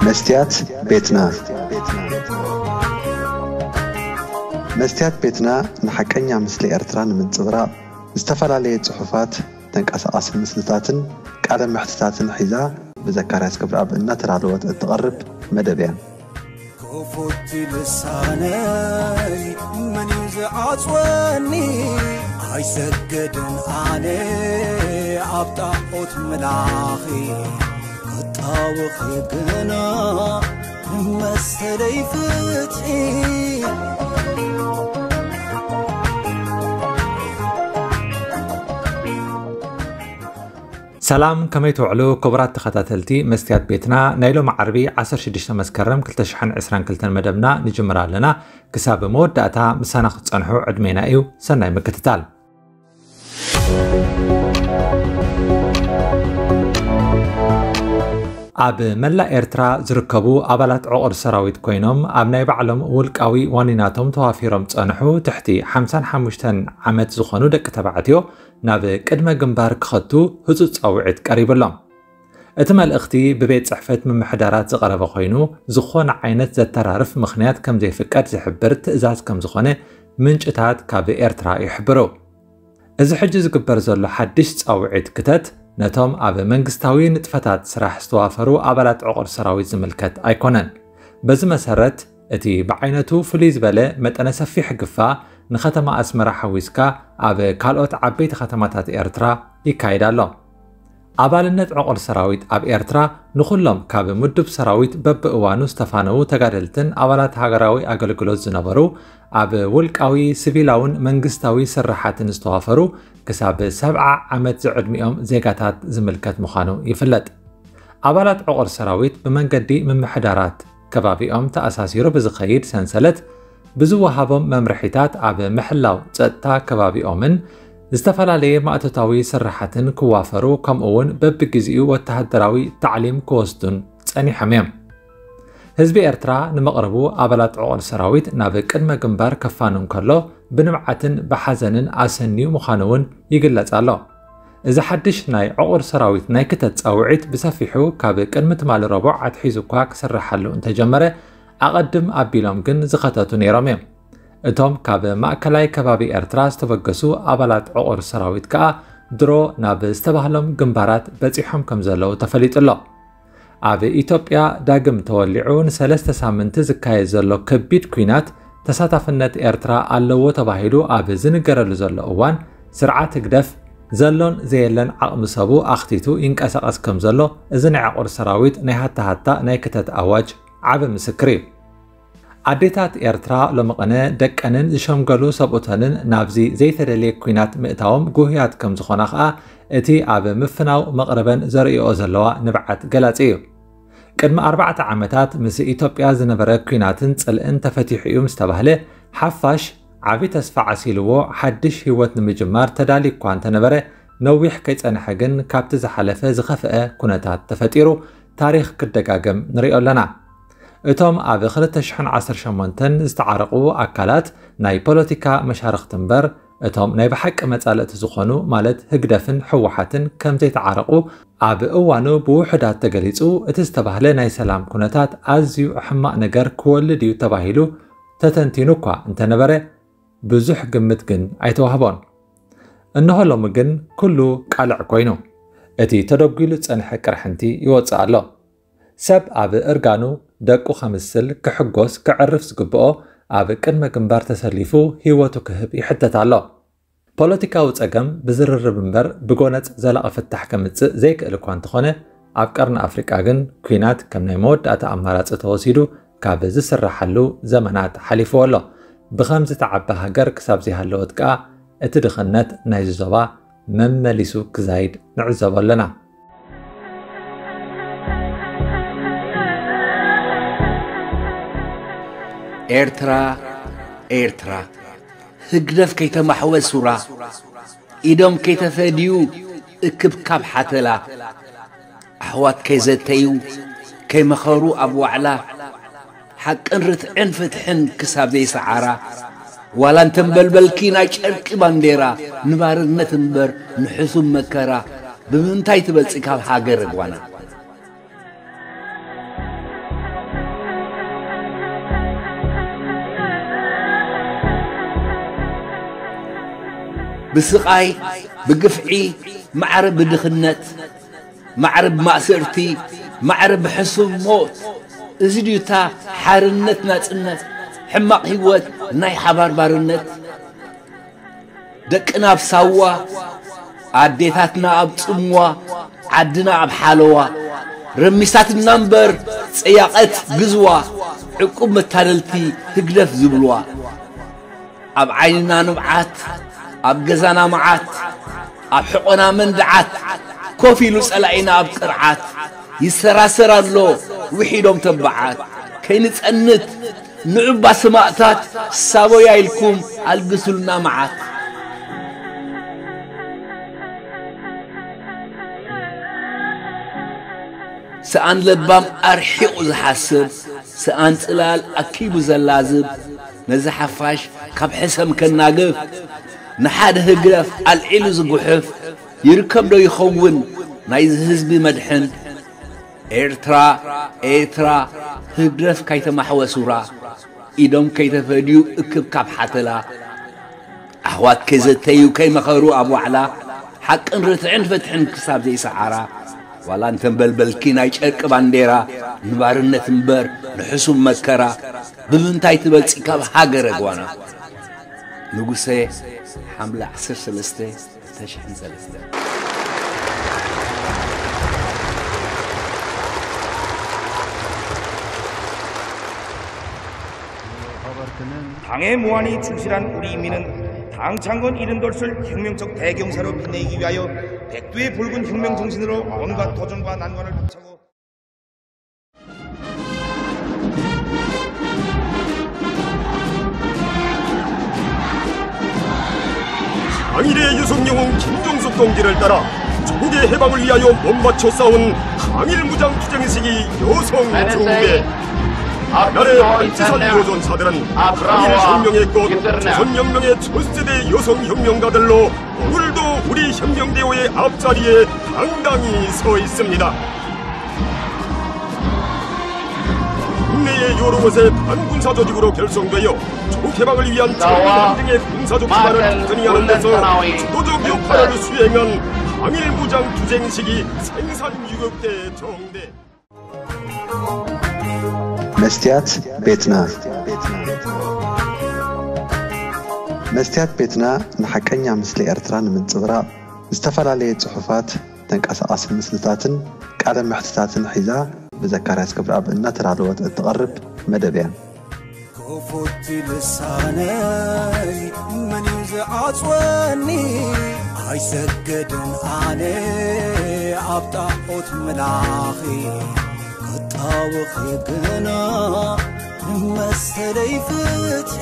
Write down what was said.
መስትያት ቤትና። መስትያት ቤትና ንሓቀኛ ምስሊ ኤርትራ ንምንጽብራቕ ዝተፈላለየ ጽሑፋት፣ ተንቀሳቓሲ ምስልታትን ቃለ መሕትታትን ሒዛ ብዘካርያስ ገብረኣብ እናተዳለወት እትቐርብ መደብ እያ። ክፉት ልሳነይ መን እዩ ዝዓጽወኒ? ኣይሰግድን ኣነ ኣብ ጣዖት ምላኺ፣ ክጣወኺ ግና መሰለይ ፍትሒ። ሰላም፣ ከመይ ትውዕሉ ክቡራት ተኸታተልቲ መስትያት ቤትና? ናይ ሎሚ ዓርቢ ዓሰርተ ሽዱሽተ መስከረም ክልተ ሽሕን ዕስራን ክልተን መደብና ንጅምር ኣለና። ክሳብ መወዳእታ ምሳና ክትጸንሑ ዕድሜና እዩ። ሰናይ ምክትታል። ኣብ መላእ ኤርትራ ዝርከቡ ኣባላት ዕቑር ሰራዊት ኮይኖም ኣብ ናይ ባዕሎም ውልቃዊ ዋኒናቶም ተዋፊሮም ጸንሑ ትሕቲ ሓምሳን ሓሙሽተን ዓመት ዝኾኑ ደቂ ተባዕትዮ ናብ ቅድመ ግንባር ክኸቱ ህጹጽ ጻውዒት ቀሪብሎም። እቲ መልእኽቲ ብቤት ጽሕፈት ምምሕዳራት ዝቐረበ ኮይኑ፣ ዝኾነ ዓይነት ዘተራርፍ ምኽንያት ከም ዘይፍቀድ ዝሕብር ትእዛዝ ከም ዝኾነ ምንጭታት ካብ ኤርትራ ይሕብሩ። እዚ ሕጂ ዝግበር ዘሎ ሓድሽ ጻውዒት ክተት፣ ነቶም ኣብ መንግስታዊ ንጥፈታት ስራሕ ዝተዋፈሩ ኣባላት ዕቑር ሰራዊት ዝምልከት ኣይኮነን። በዚ መሰረት፣ እቲ ብዓይነቱ ፍልይ ዝበለ መጠነ ሰፊሕ ግፋ ንከተማ ኣስመራ ሓዊስካ ኣብ ካልኦት ዓበይቲ ከተማታት ኤርትራ ይካየድ ኣሎ። ኣባልነት ዕቑር ሰራዊት ኣብ ኤርትራ ንኹሎም ካብ ምዱብ ሰራዊት በብእዋኑ ዝተፋነዉ ተጋደልትን ኣባላት ሃገራዊ ኣገልግሎት ዝነበሩ፣ ኣብ ውልቃዊ፣ ሲቪላውን መንግስታዊ ስራሓትን ዝተዋፈሩ ክሳብ ሰብዓ ዓመት ዝዕድሚኦም ዜጋታት ዝምልከት ምዃኑ ይፍለጥ። ኣባላት ዕቑር ሰራዊት ብመንገዲ ምምሕዳራት ከባቢኦም ተኣሳሲሩ ብዝኸይድ ሰንሰለት ብዝወሃቦም መምርሒታት ኣብ ምሕላው ጸጥታ ከባቢኦምን ዝተፈላለየ ማእቶታዊ ስራሓትን ክዋፈሩ፣ ከምኡ እውን በብግዜኡ ወተሃደራዊ ታዕሊም ክወስዱን ጸኒሖም እዮም። ህዝቢ ኤርትራ ንመቕርቡ ኣባላት ዕቑር ሰራዊት ናብ ቅድመ ግንባር ከፋኑ እንከሎ ብንብዓትን ብሓዘንን ኣሰንዩ ምዃኑ እውን ይግለጽ ኣሎ። እዚ ሓድሽ ናይ ዕቑር ሰራዊት ናይ ክተት ጻውዒት ብሰፊሑ ካብ ቅድሚ ትማሊ ረቡዕ ኣትሒዙ እኳ ክስርሓሉ እንተጀመረ፣ ኣቐድም ኣቢሎም ግን ዝኸተቱ ነይሮም እዮም። እቶም ካብ ማእከላይ ከባቢ ኤርትራ ዝተበገሱ ኣባላት ዕቑር ሰራዊት ከኣ ድሮ ናብ ዝተባህሎም ግንባራት በጺሖም ከም ዘለዉ ተፈሊጡ ኣሎ። ኣብ ኢትዮጵያ ዳግም ተወሊዑ ንሰለስተ ሳምንቲ ዝካየድ ዘሎ ከቢድ ኲናት ተሳታፍነት ኤርትራ ኣለዎ ተባሂሉ ኣብ ዝንገረሉ ዘሎ እዋን፣ ስርዓት ህግደፍ ዘሎን ዘየለን ዓቕሚ ሰቡ ኣኽቲቱ ይንቀሳቐስ ከም ዘሎ፣ እዚ ናይ ዕቑር ሰራዊት ናይ ሃታሃታ ናይ ክተት ኣዋጅ ዓቢ ምስክር እዩ። ኣዴታት ኤርትራ ሎሚ ቅነ ደቀንን ዝሸምገሉ ሰብኡተንን ናብዚ ዘይተደልየ ኲናት ምእታዎም ጉህያት ከም ዝኾና ኸኣ እቲ ኣብ ምፍናው መቕርበን ዘርእዮ ዘለዋ ንብዓት ገላጺ እዩ። ቅድሚ ኣርባዕተ ዓመታት ምስ ኢትዮጵያ ዝነበረ ኲናትን ጽልእን ተፈቲሑ እዩ ምስ ተባህለ፣ ሓፋሽ ዓቢ ተስፋ ዓሲልዎ ሓድሽ ህይወት ንምጅማር ተዳልዩ እኳ እንተነበረ፣ ነዊሕ ከይጸንሐ ግን ካብቲ ዝሓለፈ ዝኸፍአ ኩነታት ተፈጢሩ ታሪኽ ክደጋገም ንሪኦ ኣለና። እቶም ኣብ ክልተ ሽሕን ዓሰርተ ሸሞንተን ዝተዓረቑ ኣካላት ናይ ፖለቲካ መሻርኽቲ እምበር፣ እቶም ናይ ብሓቂ መጻልእቲ ዝኾኑ፣ ማለት ህግደፍን ህወሓትን ከም ዘይተዓረቑ ኣብ እዋኑ ብውሑዳት ተገሊጹ፣ እቲ ዝተባህለ ናይ ሰላም ኩነታት ኣዝዩ ሕማቕ ነገር ክወልድ እዩ ተባሂሉ ተተንቲኑ እኳ እንተነበረ፣ ብዙሕ ግምት ግን ኣይተዋህቦን። እንሆ ሎሚ ግን ኩሉ ቃልዕ ኮይኑ፣ እቲ ተደጒሉ ዝጸንሐ ቅርሕንቲ ይወጽእ ኣሎ። ሰብ ኣብ እርጋኑ ደቁ ከምስል፣ ክሕጎስ፣ ክዕርፍ ዝግብኦ፣ ኣብ ቅድመ ግንባር ተሰሊፉ ህይወቱ ክህብ ይሕተት ኣሎ። ፖለቲካዊ ጸገም ብዝርርብ እምበር ብጎነጽ ዘላቒ ፍታሕ ከምጽእ ዘይክእል እኳ እንተኾነ፣ ኣብ ቀርኒ ኣፍሪቃ ግን ኲናት ከም ናይ መወዳእታ ኣማራጺ ተወሲዱ ካብ ዝስራሓሉ ዘመናት ሓሊፍዎ ኣሎ። ብኸምዚ ተዓቢ ሃገር ክሳብ ዘይሃለወት ከኣ፣ እቲ ድኽነት ናይዚ ዞባ መመሊሱ ክዛይድ ንዕዘቦ ኣለና። ኤርትራ፣ ኤርትራ፣ ህግደፍ ከይተማሕወ ሱራ፣ ኢዶም ከይተፈድዩ እክብካብ ሓተላ፣ ኣሕዋት ከይዘተዩ ከይመኸሩ ኣብ ዋዕላ፣ ሓቅን ርትዕን ፍትሕን ክሳብ ዘይሰዓራ፣ ዋላ እንተንበልበልኪ ናይ ጨርቂ ባንዴራ፣ ንባርነት እምበር ንሕሱም መከራ፣ ብምንታይ ትበልጺ ካብ ሃገር ጓና? ብስቓይ፣ ብግፍዒ፣ ማዕረ ብድኽነት፣ ማዕረ ብማእሰርቲ፣ ማዕረ ብሕሱም ሞት። እዚ ድዩ እታ ሓርነት ናጽነት? ሕማቕ ህይወት ናይ ሓባር ባርነት። ደቅና ኣብ ሳዋ፣ ኣዴታትና ኣብ ጽምዋ፣ ዓድና ኣብ ሓለዋ። ረሚሳትና እምበር ጸያቐት ግዝዋ፣ ዕቁብ መታለልቲ ህግደፍ ዝብልዋ። ኣብ ዓይንና ንብዓት፣ ኣብ ገዛና መዓት፣ ኣብ ሕቖና መንድዓት፣ ኮፍ ኢሉ ጸላኢና ኣብ ቅርዓት። ይሰራሰር ኣሎ ውሒዶም ተባዓት። ከይንጸንት ንዑባ ሰማእታት ሳቦያ ኢልኩም ኣልግሱልና መዓት። ሰኣን ለባም ኣርሒቑ ዝሓስብ፣ ሰኣን ጽላል ኣኪቡ ዘላዝብ፣ ነዚ ሓፋሽ ካብ ሕሰም ከናግፍ፣ ንሓደ ህግደፍ ኣልዒሉ ዝጉሕፍ፣ ይርከብ ዶ ይኸውን ናይዚ ህዝቢ መድሕን? ኤርትራ፣ ኤርትራ፣ ህግደፍ ካይተማሕወ ሱራ፣ ኢዶም ከይተፈድዩ እክብካብ ሓተላ፣ ኣሕዋት ከይዘተዩ ከይመኸሩ ኣብ ዋዕላ፣ ሓቅን ርትዕን ፍትሕን ክሳብ ዘይሰዓራ፣ ዋላ እንተንበልበልኪ ናይ ጨርቂ ባንዴራ፣ ንባርነት እምበር ንሕሱም መከራ፣ ብምንታይ ትበልጺ ካብ ሃገረ ጓና? ንጉሰ፣ ሓምለ ዓሰርተ ሰለስተ፣ ክልተ ሽሕን ሰለስተን። 당의 무한히 충실한 우리 인민은 당창건 이른 돌출 혁명적 대경사로 빛내기 위하여 백두의 붉은 혁명 정신으로 온갖 도전과 난관을 박차고 항일의 유성영웅 김종숙 동지를 따라 조국의 해방을 위하여 몸바쳐 싸운 항일 무장 투쟁 시기 여성 중대 나래 안치선 요전사들은 항일 혁명의 꽃 조선혁명의 첫 세대 여성 혁명가들로 오늘도 우리 혁명대회의 앞자리에 당당히 서 있습니다. 국내의 여러 곳의 반군사 조직으로 결성되어 조국 해방을 위한 전국 나와 함정의 군사적 기반을 마찬 튼튼히 하는 데서 군대사나위 주도적 역할을 수행한 항일 무장 투쟁 시기 생산 유격대 정대. መስትያት ቤትና። መስትያት ቤትና ንሓቀኛ ምስሊ ኤርትራ ንምንጽብራቕ፣ ዝተፈላለየ ጽሑፋት፣ ተንቀሳቓሲ ምስልታትን ቃለ መሕትታትን ሒዛ ብዘካርያስ ክብረኣብ እናተዳለወት እትቐርብ መደብ እያ። ክፉት ልሳነይ መን እዩ ዝዓጽወኒ? ኣይሰግድን ኣነ ኣብ ጣዖት ምላኺ፣ ክጣወኺ ግና ንመሰለይ ፍትሒ።